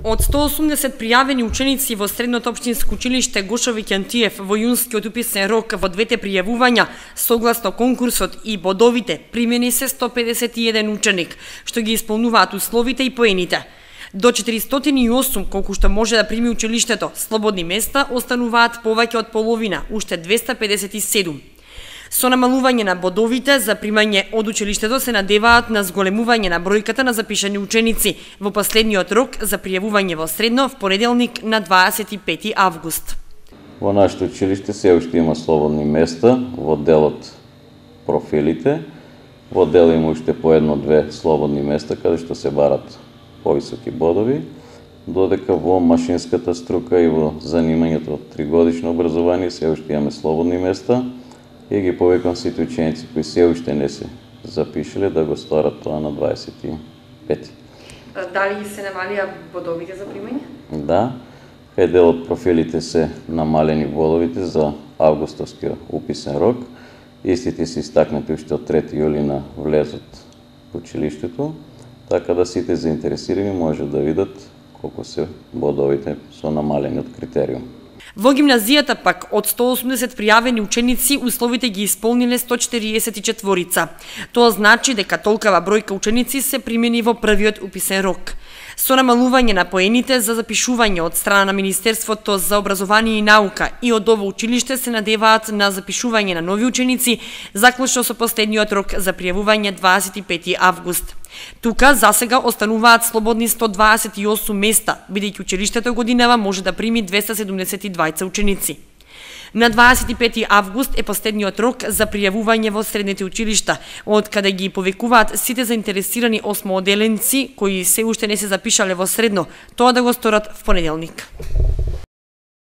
Од 180 пријавени ученици во Средното општинско училиште Гошо Викентиев во јунскиот уписен рок во двете пријавувања, согласно конкурсот и бодовите, примени се 151 ученик, што ги исполнуваат условите и поените. До 408, колку што може да прими училиштето, слободни места остануваат повеќе од половина, уште 257. Со намалување на бодовите за примање од училиштето се надеваат на зголемување на бројката на запишани ученици во последниот рок за пријавување во средно в понеделник на 25 август. Во нашето училиште се уште има слободни места во делот профилите. Во дел има уште по едно-две слободни места каде што се барат повисоки бодови, додека во машинската струка и во занимањето од 3-годишно образование се уште имаме слободни места. И ги повикам сите ученици кои се уште не се запишале да го сторат тоа на 25. Дали се намалија бодовите за примање? Да, кај дел од профилите се намалени бодовите за августовскиот уписен рок. Истите се истакнати уште од 3 јули на влезот во училиштето, така да сите заинтересирани може да видат колку се бодовите со намалени од критериум. Во гимназијата пак од 180 пријавени ученици условите ги исполниле 144. Тоа значи дека толкава бројка ученици се примени во првиот уписен рок. Со намалување на поените за запишување од страна на Министерството за образование и наука и од ово училиште се надеваат на запишување на нови ученици, заклучно со последниот рок за пријавување 25 август. Тука засега остануваат слободни 128 места, бидејќи училиштето годинава може да прими 272 ученици. На 25 август е последниот рок за пријавување во средните училишта, од каде ги повикуваат сите заинтересирани осмооделенци кои се уште не се запишале во средно, тоа да го сторат в понеделник.